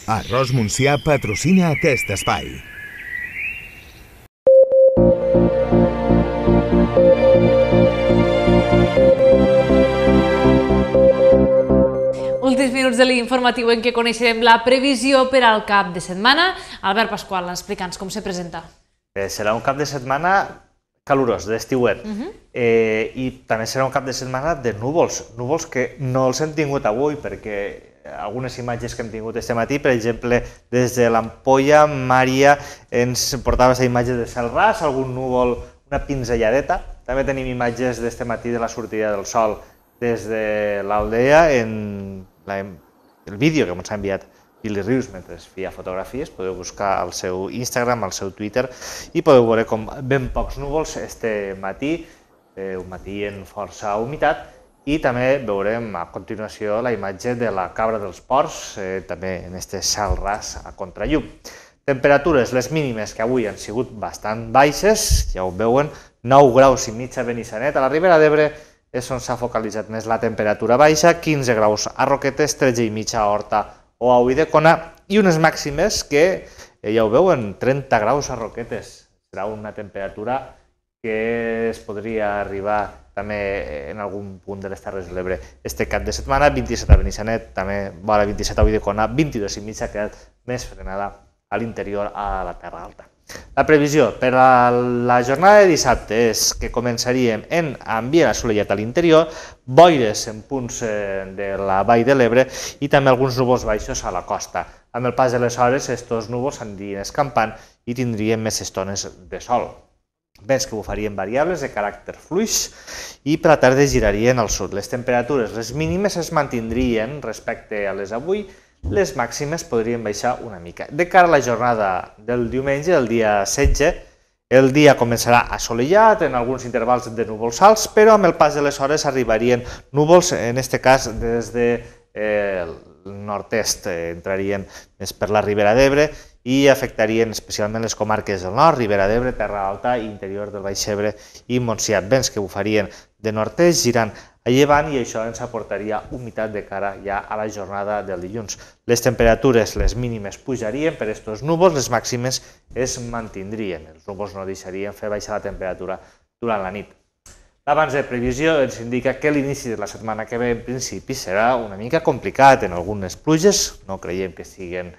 Arròs Montsià patrocina aquest espai. Últims minuts de l'informatiu en què coneixerem la previsió per al cap de setmana. Albert Pasqual, explica'ns com se presenta. Serà un cap de setmana calorós, d'estiuet, i també serà un cap de setmana de núvols, núvols que no els hem tingut avui perquè algunes imatges que hem tingut aquest matí, per exemple, des de l'Ampolla, Mària ens portava aquesta imatge de cel ras, algun núvol, una pinzelladeta. També tenim imatges d'aquest matí de la sortida del sol des de l'Aldea en el vídeo que ens ha enviat Billy Rius mentre feia fotografies. Podeu buscar al seu Instagram, al seu Twitter, i podeu veure com ben pocs núvols este matí, un matí en força humitat, i també veurem a continuació la imatge de la cabra dels ports, també en aquest cel ras a contrallum. Temperatures, les mínimes que avui han sigut bastant baixes, ja ho veuen, 9 graus i mig a Benissanet, a la Ribera d'Ebre és on s'ha focalitzat més la temperatura baixa, 15 graus a Roquetes, 13 i mig a Horta o a Ulldecona, i unes màximes que, ja ho veuen, 30 graus a Roquetes. Serà una temperatura que es podria arribar també en algun punt de les Terres de l'Ebre este cap de setmana, 27 a Benissanet, també vora 27 a Ulldecona, 22 i mig ha quedat més frenada a l'interior a la Terra Alta. La previsió per a la jornada de dissabte és que començaríem en ambient assolellat a l'interior, boires en punts de la Vall de l'Ebre i també alguns núvols baixos a la costa. Amb el pas de les hores, aquests núvols anirien escampant i tindrien més estones de sol. Vents que bufarien variables de caràcter fluix i per la tarda girarien al sud. Les temperatures, les mínimes es mantindrien respecte a les d'avui, les màximes podrien baixar una mica. De cara a la jornada del diumenge, el dia 16, el dia començarà assolellat, en alguns intervals de núvols alts, però amb el pas de les hores arribarien núvols, en aquest cas des del nord-est, entrarien més per la Ribera d'Ebre i afectarien especialment les comarques del nord, Ribera d'Ebre, Terra Alta, interior del Baix Ebre i Montsià. Vents que bufarien de nord-est, girant a llevant, i això ens aportaria humitat de cara ja a la jornada del dilluns. Les temperatures, les mínimes pujarien per aquests núvols, les màximes es mantindrien. Els núvols no deixarien fer baixar la temperatura durant la nit. L'abans de previsió ens indica que l'inici de la setmana que ve en principi serà una mica complicat en algunes pluges, no creiem que siguin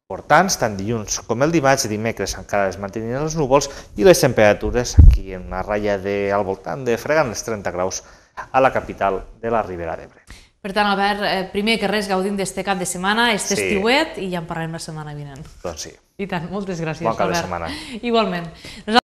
importants, tant dilluns com el dimarts, i dimecres encara es mantenien els núvols i les temperatures aquí en una ratlla al voltant de fregant els 30 graus a la capital de la Ribera d'Ebre. Per tant, Albert, primer que res gaudim d'este cap de setmana, este estiuet, i ja en parlarem la setmana vinent. Doncs sí. I tant, moltes gràcies, Bon cap de Albert. setmana. Igualment.